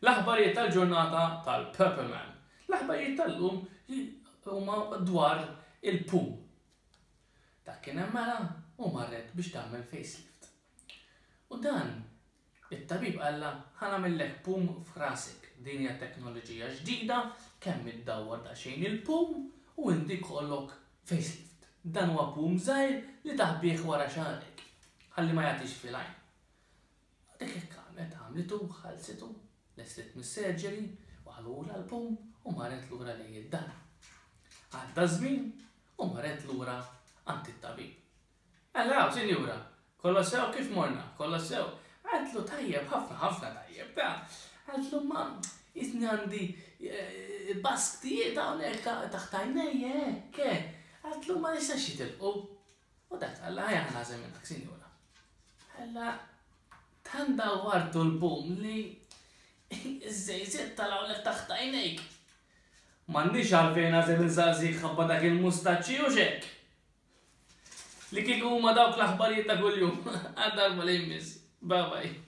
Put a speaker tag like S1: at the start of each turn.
S1: L-aħbarijiet tal-ġurnata tal-Purple Man. L-aħbarijiet tal-lum huma dwar il-pum. Dak kien hemm mara u marret biex tagħmel facelift. U dan it-tabib qallha ħa nagħmillek pum f'rasek. Din hija teknoloġija ġdida kemm iddawwar daqsxejn il-pum u inti jkollok facelift. Dan huwa pum żgħir li taħbih wara xagħrek ħalli ma jagħtix fil-għajn. Dik hekk għamlet, għamlitu, ħallsitu, lestiet mis-surgery, waħlulha l-pum u marret lura lejn id-dar. Għadda ż-żmien u marret lura għand it-tabib. Hello, sinjura, kollox sew kif morna, kollox sew. Qaltlu tajjeb, ħafna ħafna tajjeb, ta. Qaltlu ma jisni għandi eh, basktijiet hawnhekk taħt għajnejja hekk. Eh. Qaltlu ma nistax jitilqu. U dak qalla ħajja ħanażel minnak, sinjura. Alla tant dawwartu l-bum li iż-żejżiet talgħulek taħt għajnejk. M'għandix għalfejn għażel insaqsik ħabba dak il-mustaċċi u xek. Li kieku huma dawk l-aħbarijiet ta' kuljum. Għal darba li jmiss. Bye bye.